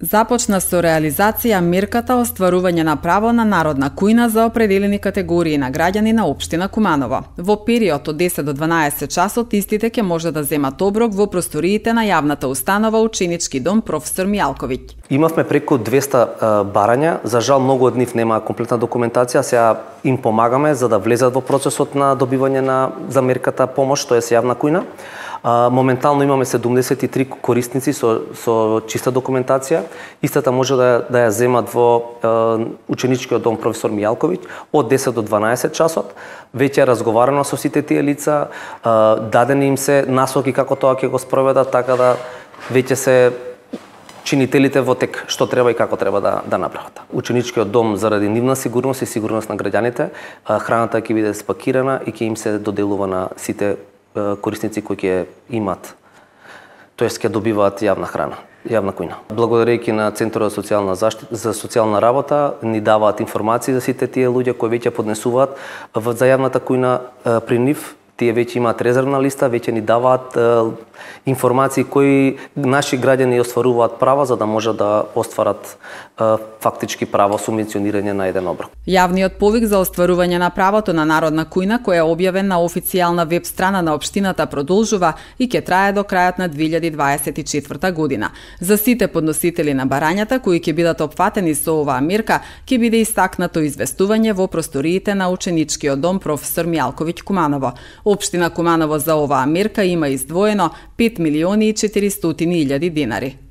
Започна со реализација мерката остварување на право на народна кујна за определени категории на граѓани на општина Куманово. Во период од 10 до 12 часот истите ќе може да земат оброк во просториите на јавната установа Ученички дом професор Мијалковиќ. Имавме преку 200 барања, за жал многу од нив нема комплетна документација, сега им помагаме за да влезат во процесот на добивање за мерката помош, тоа е јавна кујна. Моментално имаме 73 корисници со чиста документација. Истата може да ја земат во Ученичкиот дом професор Мијалковиќ од 10 до 12 часот. Веќе е разговарано со сите тие лица, дадени им се насоки како тоа ќе го спроведат, така да веќе се чинителите во тек што треба и како треба да направат. Ученичкиот дом заради нивна сигурност и сигурност на граѓаните, храната ќе биде спакирана и ќе им се доделува на сите корисници кои ќе имат, тоест ќе добиваат јавна храна, јавна кујна. Благодарејќи на Центарот за социјална работа ни даваат информации за сите тие луѓе кои веќе поднесуваат за јавната кујна при нив. Тие веќе имаат резервна листа, веќе ни даваат информации кои наши граѓани остваруваат права за да може да остварат фактички право субвенционирање на еден оброк. Јавниот повик за остварување на правото на народна кујна, кој е објавен на официјална веб страна на општината, продолжува и ќе трае до крајот на 2024 година. За сите подносители на барањата кои ќе бидат опфатени со оваа мерка, ќе биде истакнато известување во просториите на Ученичкиот дом професор Мијалковиќ Куманово. Општина Куманово за оваа мерка има издвоено 5.400.000 динари.